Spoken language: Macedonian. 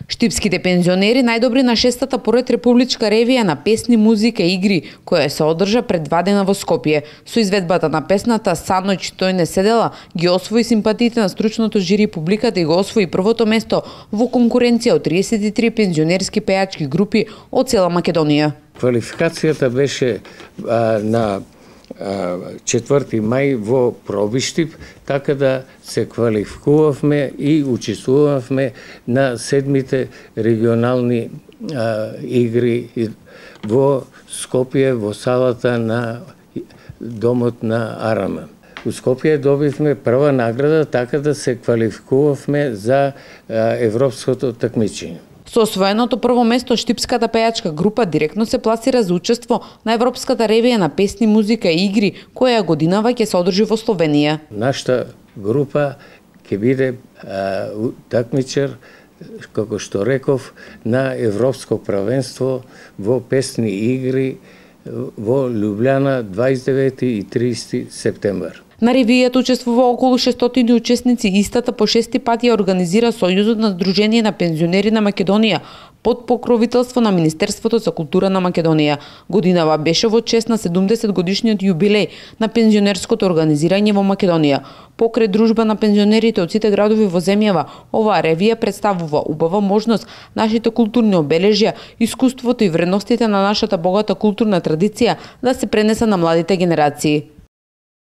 Штипските пензионери најдобри на 6-та поред републичка ревија на песни, музика и игри, која се одржа пред 2 дена во Скопје. Со изведбата на песната "Саноќ тој не седела" ги освои симпатиите на стручното жири и публиката и го освои првото место во конкуренција од 33 пензионерски пејачки групи од цела Македонија. Квалификацијата беше на 4 мај во Пробиштип, така да се квалификувавме и учествувавме на 7-те регионални игри во Скопје, во салата на домот на Арама. У Скопје добивме прва награда, така да се квалификувавме за европското такмичење. Со освоеното прво место, штипската пејачка група директно се пласира за учество на европската ревија на песни, музика и игри, која годинава ќе се одржи во Словенија. Нашата група ќе биде такмичар, како што реков, на европско правенство во песни и игри во Лјубљана 29 и 30 септември. На ревијата учествува околу 600 учесници и истата по 6 пати ја организира Сојузот на Сдружение на пензионери на Македонија под покровителство на Министерството за култура на Македонија. Годинава беше во чест на 70 годишниот јубилеј на пензионерското организирање во Македонија. Покрај дружба на пензионерите од сите градови во земјава, оваа ревија представува убава можност нашите културни обележја, искуството и вредностите на нашата богата културна традиција да се пренеса на младите генерации.